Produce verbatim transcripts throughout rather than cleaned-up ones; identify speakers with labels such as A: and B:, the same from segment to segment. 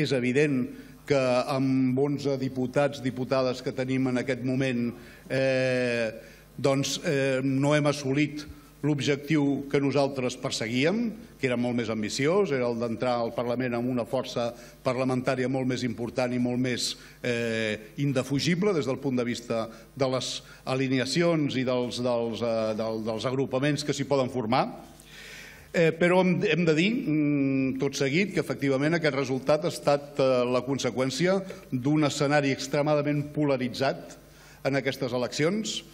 A: és evident que amb onze diputats, diputades que tenim en aquest moment, doncs no hem assolit l'objectiu que nosaltres perseguíem, que era molt més ambiciós, era el d'entrar al Parlament amb una força parlamentària molt més important i molt més indefugible des del punt de vista de les alineacions i dels agrupaments que s'hi poden formar. Però hem de dir, tot seguit, que efectivament aquest resultat ha estat la conseqüència d'un escenari extremadament polaritzat en aquestes eleccions,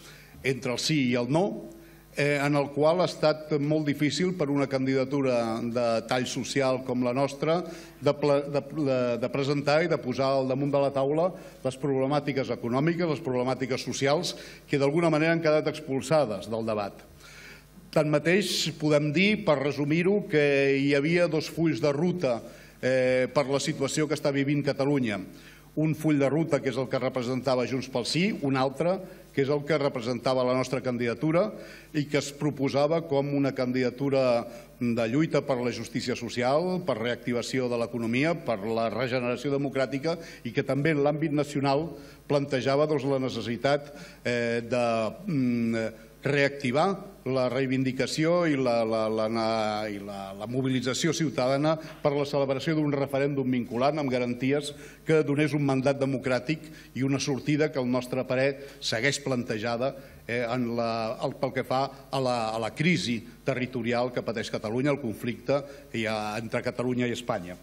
A: entre el sí i el no, en el qual ha estat molt difícil per una candidatura de tall social com la nostra de presentar i de posar al damunt de la taula les problemàtiques econòmiques, les problemàtiques socials, que d'alguna manera han quedat expulsades del debat. Tanmateix, podem dir, per resumir-ho, que hi havia dos fulls de ruta per la situació que està vivint Catalunya. Un full de ruta, que és el que representava Junts pel Sí, un altre, que és el que representava la nostra candidatura i que es proposava com una candidatura de lluita per la justícia social, per reactivació de l'economia, per la regeneració democràtica i que també en l'àmbit nacional plantejava la necessitat de reactivar la reivindicació i la mobilització ciutadana per la celebració d'un referèndum vinculant amb garanties que donés un mandat democràtic i una sortida que al nostre parer segueix plantejada pel que fa a la crisi territorial que pateix Catalunya, el conflicte entre Catalunya i Espanya.